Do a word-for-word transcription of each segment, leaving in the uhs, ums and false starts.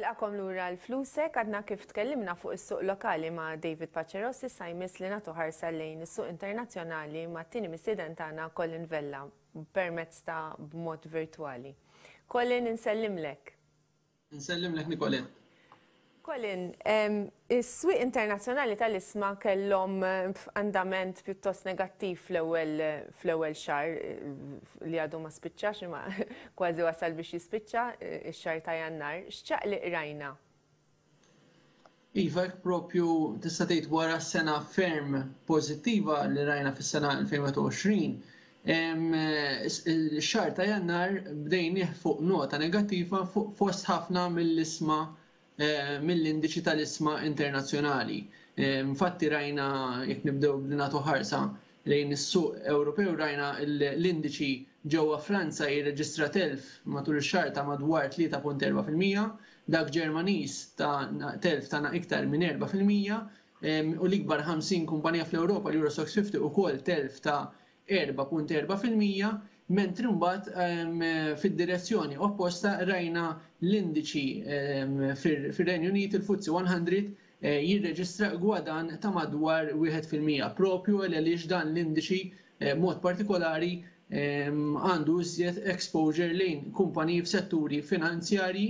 Nilqagħkom lura għal Flusek. Għadna kif tkellimna fuq is-suq lokali ma' David Pacerossi, issa jmiss li nagħtu ħarsa lejn is-suq internazzjonali mat-tieni mistieden tagħna, Colin Vella, permezz ta' b'mod virtwali. Colin, insellimlek. Nsellimlek, Nicolette. Colin, is-swieq internazzjonali tal-ishma kellhom andament pjuttost negattiv fl-ewwel fl-ewwel xahar li għadu ma spiċċax, imma kważi wasal biex jispiċċa, ix-xahar ta' Jannar. X'ċaqliq rajna? Iva, propju tista' tgħid wara sena ferm pożittiva li rajna fis-sena elfejn u wieħed u għoxrin, ix-xahar ta' Jannar bdejnieh fuq nota negattiva fost ħafna mill-ishma, Eh, mill-indiċi tal-ishma internazzjonali. Eh, infatti rajna, jekk nibdew li nagħtu ħarsa lejn is-suq Ewropew, rajna l-indiċi ġewwa Franza jirreġistra telf matul ix-xahar ta' madwar tlieta punt erbgħa fil-mija, dak Ġermaniż ta' telf ta' iktar minn erbgħa fil-mija u l-ikbar ħamsin kumpanija fl-Ewropa, l-Euro Stoxx ħamsin, ukoll telf ta' erbgħa punt erbgħa fil-mija, mentri mbagħad fid-direzzjoni opposta rajna l-indiċi fir-Renju Unit, il-F T S E mija, eh, jirreġistra gwadann ta' madwar wieħed fil-mija, propju għaliex dan l-indiċi eh, mod partikolari għandu iżjed exposure lejn kumpaniji f'setturi finanzjarji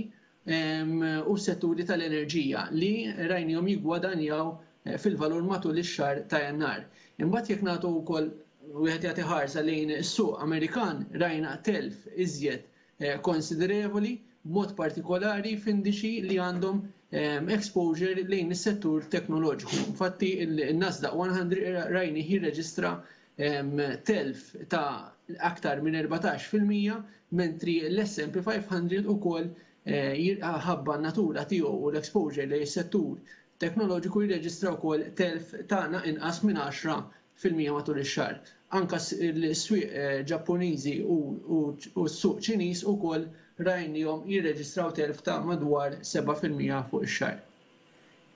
u setturi tal-enerġija li rajnihom jiggwadanjaw eh, fil-valur matul ix-xahar ta' Jannar. Imbagħad jekk nagħtu wkoll wieħed jagħti ħarsa lejn is-suq Amerikan, rajna telf iżjed eh, konsiderevoli, b'mod partikolari f'indiċi li għandhom ehm, exposure lejn is-settur teknoloġiku. Infatti il-Nasdaq mija rajni jirreġistra ehm, telf ta' aktar minn erbatax fil-mija, mentri l-S and P ħames mija ukoll eh, ħabba natura tiegħu u l-exposure lejn is-settur teknoloġiku jirreġistra wkoll telf ta' inqas minn għaxra fil-mija matul ix-xahar. Anka l-swieq eh, Ġappuniżi u s-suq Ċiniż ukoll rajnihom jirreġistraw telf ta' madwar seba' fil-mija fuq ix-xahar.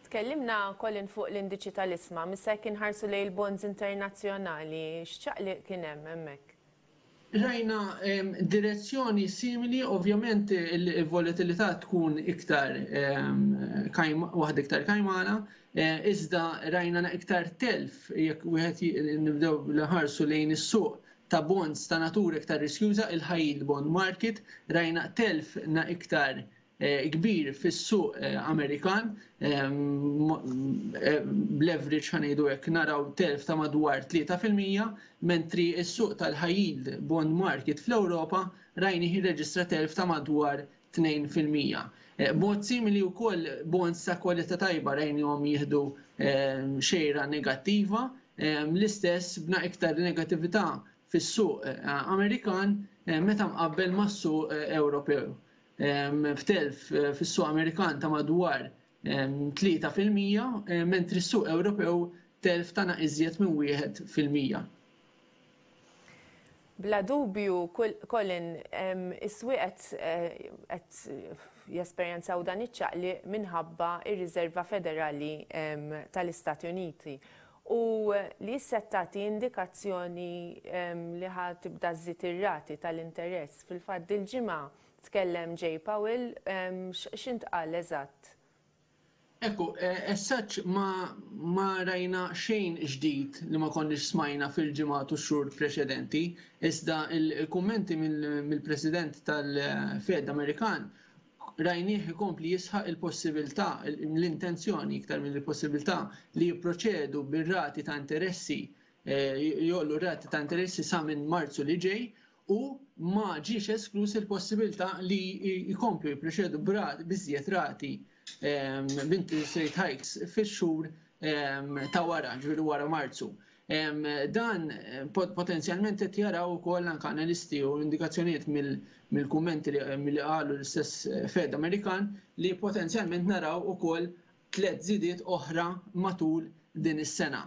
Tkellimna, Colin, fuq l-indiċi tal-ishma, issa jekk inħarsu lejn il-bonds internazzjonali, x'ċaqliq kien hemm hemmhekk? Rajna direzzjoni simili, ovvjament il-volatilità tkun iktar waħda iktar kajmana, eh, iżda rajna iktar telf jekk wieħed nibdew nħarsu lejn is-suq ta' bonds ta' natura iktar riskjuża, il-high yield bond market, rajna telf na iktar eh, kbir fis-suq eh, Amerikan, b'leverage, ħa ngħidu hekk, naraw telf ta' madwar tlieta fil-mija, mentri s-suq tal-high yield bond market fl-Ewropa rajni jirreġistra telf ta' madwar tnejn fil-mija. Eh, b'mod simili wkoll bonds ta' kwalità tajba rajnihom jieħdu eh, xejra negattiva, eh, l-istess b'na iktar negattività fis-suq Amerikan meta mqabbel mas-suq Ewropew. F'telf fis-suq Amerikan ta' madwar tlieta fil-mija, mentri s-suq Ewropew telf ta' iżjed minn wieħed fil-mija. Bla dubju, Colin, is-swieq qed jesperjenzaw dan iċ-ċaqliq minħabba ir-Riserva Federali tal-Istati Uniti u li tagħti indikazzjoni li ħa tibda żżid ir-rati tal-interess. Fil-fatt dil-ġimgħa tkellem Jay Powell, x'intqal eżatt? Ekku, as such ma, ma rajna xejn ġdid li ma konniex smajna fil-ġimgħat u xhur preċedenti, iżda il-kummenti mill-President tal-Fed Amerikan rajnieh ikompli jisħaq il-possibilità, l-intenzjoni iktar minn il-possibilità li jipproċedu bir-rati ta' interessi, eh, jgħollu rati ta' interessi sa minn Marzu li ġej, u ma ġiex esklus il-possibilità li jkomplu jipproċedu b'iżjed rati, b'interest rate hikes, fix-xhur ta' wara, ġifieri wara Marzu. Dan potenzjalment qed jaraw ukoll anke analisti u indikazzjonijiet mill-kummenti li qalu l-istess Fed Amerikan li potenzjalment naraw ukoll tliet żidiet oħra matul din is-sena.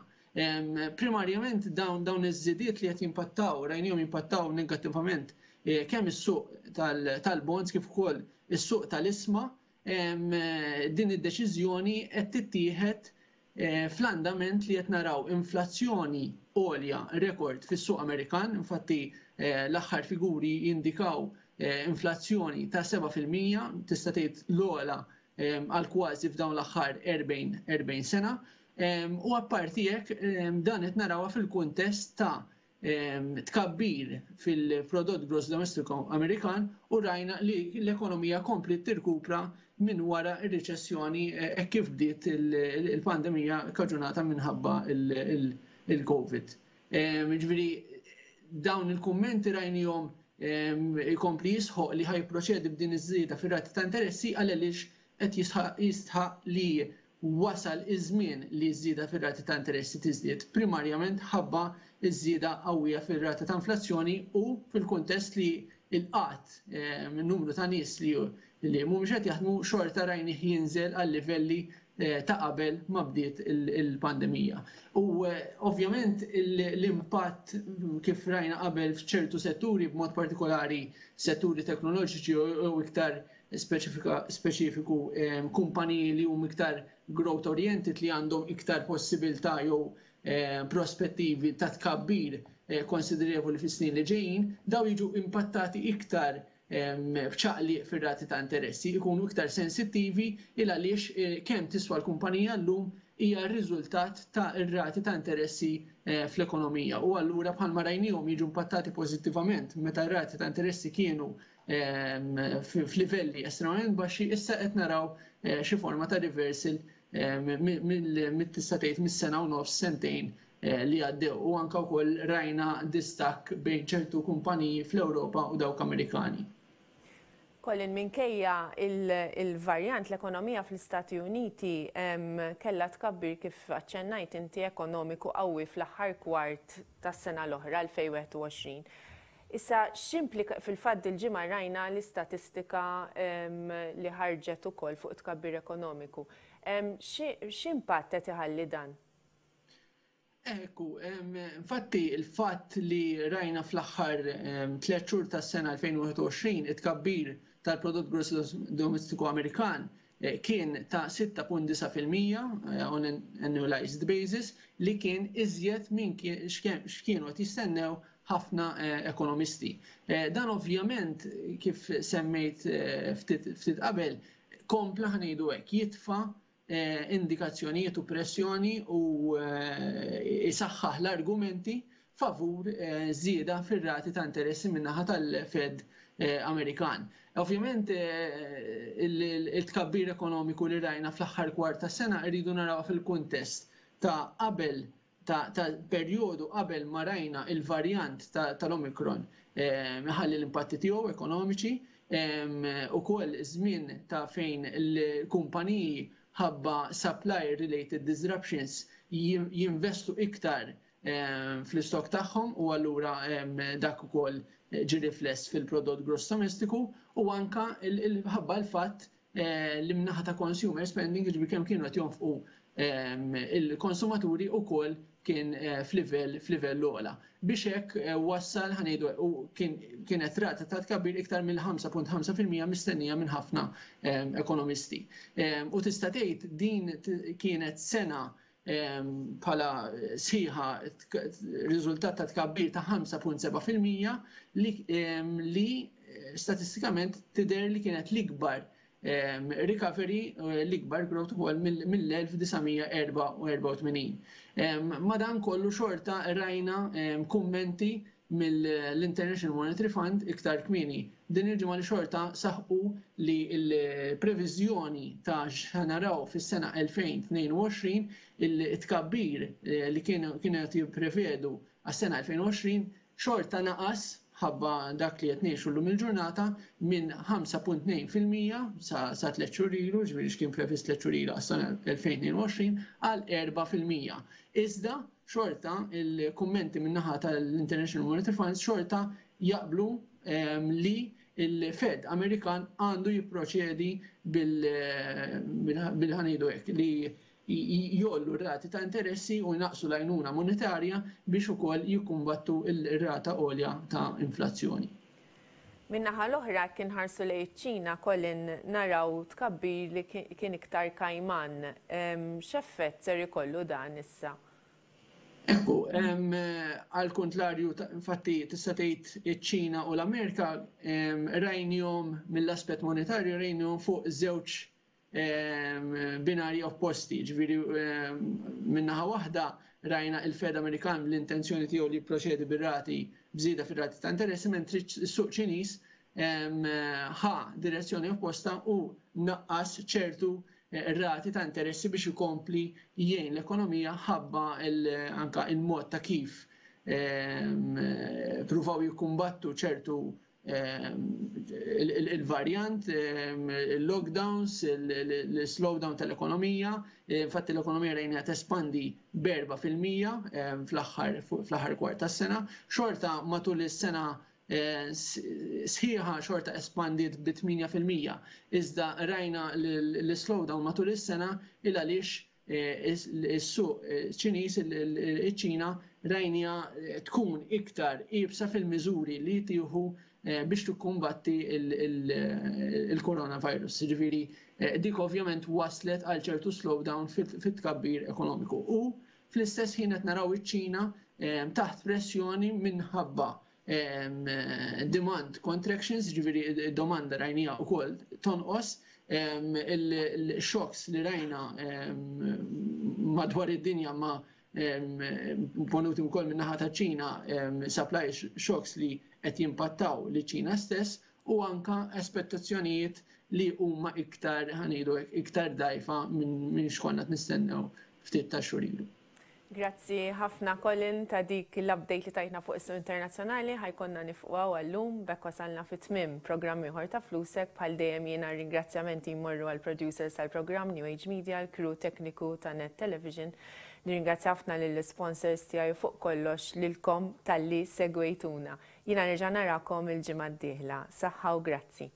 Primarjament dawn dawn iż-żidiet li qed jimpattaw, rajnihom jimpattaw negattivament eh, kemm is-suq tal-bonds kif ukoll is-suq tal-ishma. Din id-deċiżjoni qed tittieħed eh, fl-andament li qed naraw inflazzjoni għolja rekord fis-suq Amerikan, infatti eh, l-aħħar figuri jindikaw eh, inflazzjoni ta' seba' fil-mija, tista' tgħid l-ogħla għal kważi f'dawn l-aħħar erbgħin sena. U apparti hekk dan qed narawha fil-kuntest ta' tkabbir fil-prodott gross domestiku Amerikan u rajna li l-ekonomija kompli tirkupra minn wara r-riċessjoni hekk kif bdiet il-pandemija kaġunata minħabba il-Covid. Ġifieri dawn il-kummenti rajnihom ikompli jisħoq li ħajproċedi b'din iż-żieda fir-rati ta' interessi għaliex qed jistħaq li wasal iż-żmien li ż-żieda fir-rati ta' interessi tiżdied, primarjament ħabba ż-żieda qawwija fir-rata ta' inflazzjoni u fil-kuntest li l-qatt, numru ta' nies li mhumiex qed jaħdmu xorta rajnih jinżel għal livelli ta' qabel ma bdiet il-pandemija. U ovvjament l-impatt kif rajna qabel f'ċertu setturi, b'mod partikolari setturi teknoloġiċi u iktar speċifiku kumpaniji li huma iktar growth oriented, li għandhom iktar possibilità jew prospettivi ta' tkabbir konsiderevoli fis-snin li ġejjin, daw jiġu impattati iktar b'ċaqliq fir-rati ta' interessi, ikunu iktar sensittivi il għaliex kemm tiswa l-kumpanija llum hija r-riżultat ta' ir-rati ta' interessi fl-ekonomija. U allura bħalma rajnihom jiġu impattati pożittivament meta r-rati ta' interessi kienu f'livelli estremament baxxi, issa qed naraw xi forma ta' reversal mit-tista' tgħid mis-sena u nofs sentejn li għaddew, u anke wkoll rajna distakk bejn ċertu kumpaniji fl-Ewropa u dawk Amerikani. Colin, minkejja il-varjant, l-ekonomija fl-Istati Uniti kellha tkabbir kif aċċennajt inti ekonomiku qawwi fl-aħħar kwart tas-sena l-oħra elfejn u wieħed u għoxrin. Issa x'implika fil-fatt il-ġimgħa rajna l-istatistika li ħarġet ukoll fuq tkabbir ekonomiku. X'impatt qed iħalli dan? Ekku, infatti il-fatt li rajna fl-aħħar tliet xhur tas-sena elfejn u wieħed u għoxrin it-tkabbir tal-prodott gross domestiku Amerikan kien ta' sitta punt disa' fil-mija on an annualized basis, li kien iżjed minn x'kienu qed jistennew ħafna ekonomisti. Dan ovvjament kif semmejt ftit qabel kompla ħnejdu hekk jitfa' indikazzjonijiet u pressjoni u isaħħaħ l-argumenti favur żieda fir-rati ta' interessi min-naħa tal-Fed Amerikan. Ovvjament il-tkabbir ekonomiku li rajna fl-aħħar kwart tas-sena rridu naraw fil-kuntest ta' qabel ta' perjodu qabel ma rajna il-varjant tal-Omicron ħalli l-impatti tiegħu ekonomiċi, ukoll żmien ta' fejn il-kumpaniji ħabba supply related disruptions jinvestu iktar fl-istok tagħhom u allura dak ukoll ġi rifless fil-prodott gross domestiku, u anka ħabba l-fatt li mnaħa ta' consumer spending, ġifieri kemm kienu qed jonfqu il-konsumaturi ukoll kien f'livell f'livell ogħla. Biex hekk wassal ħanejdu u kienet rata ta' tkabbir iktar mill-ħamsa punt ħamsa fil-mija mistennija minn ħafna ekonomisti. U tista' tgħid din kienet sena bħala sħiħa riżultat ta' tkabbir ta' ħamsa punt seba' fil-mija li statistikament tidher li kienet l-ikbar recovery, l-ikbar growth ukoll mill-elf disa' mija erba' u erba' u tmenin. Madan kollu xorta rajna kummenti mill-International Monetary Fund iktar kmieni din il-ġimgħa li xorta saħqu li l-previżjoni ta' x'naraw fis-sena elfejn tnejn u għoxrin, il-tkabbir li kienu qed jipprevedu għas-sena elfejn u għoxrin xorta naqas ħabba dak li qed ngħixu llum il-ġurnata minn ħamsa punt tnejn fil-mija sa tliet xhur ilu, ġifieri x'kien previst tliet xhur ilu għas-sena elfejn tnejn u għoxrin, għal erba' fil-mija. Iżda xorta il-kummenti min-naħa tal-International Monetary Fund xorta jaqblu li il-Fed Amerikan għandu jipproċedi bil-ħanidu hekk li jollu r-rati ta' interessi u jnaqsu l-għajnuna monetarja biex ukoll jikkumbattu r-rata għolja ta' inflazzjoni. Min-naħa l-oħra kien ħarsu lejn iċ-Ċina, Colin, naraw tkabbir li kien iktar kajman. X'effett ser ikollu dan issa? Ekku, għal kontrarju, infatti tista' tgħid iċ-Ċina u l-Amerika rajnihom mill-aspett monetarju, rajnihom fuq żewġ binarji opposti. Ġifieri, min-naħa waħda rajna il-Fed Amerikan, l-intenzjoni tiegħu li jipproċedi bir-rati, bżieda fir-rati ta' interessi, mentri s-suq Ċiniż ħa direzzjoni opposta u naqqas ċertu rati ta' interessi biex ikompli jgħin l-ekonomija, ħabba anka il-mod ta' kif pruvaw jikkumbattu ċertu il-variant, il-lockdowns, il-slowdown tal-ekonomija. Infatti l-ekonomija rajna tespandi b'erba' fil-mija fl-aħħar kwart tas-sena. Xorta matul is-sena sħiħa xorta espandiet bi tmienja fil-mija. Iżda rajna l-slowdown matul is-sena il għaliex is-suq Ċiniż, iċ-Ċina rajna tkun iktar iebsa fil-miżuri li tieħu biex tikkumbatti il-coronavirus. Ġifieri, dik ovvjament waslet għal ċertu slowdown fit-tkabbir ekonomiku. U fl-istess ħin qed naraw iċ-Ċina taħt pressjoni minħabba demand contractions, ġifieri domanda rajnija wkoll tonqos, il-shocks li rajna madwar id-dinja ma ponuti wkoll min-naħa ta' Ċina, supply shocks li qed jimpattaw li Ċina stess u anka aspettazzjonijiet li huma iktar, ħa ngħidu, iktar dgħajfa minn x'konna nistennew ftit ta' xhur ilu. Grazzi ħafna, Colin, ta' dik l-update li tajtna fuq is-suq internazzjonali. Ħa jkollna nieqfu għal-lum, b'hekk wasalna fi tmiem programm ieħor ta' Flusek. Bħal dejjem jiena ringrazzjamenti jmorru għal producers tal-programm New Age Media, l-crew tekniku ta' Net Television. Nirringrazzja ħafna lill-sponsors tiegħi, fuq kollox lilkom talli segwejtuna. Jiena nerġa' narakom il-ġimgħa d-dieħla. Saħħa u grazzi.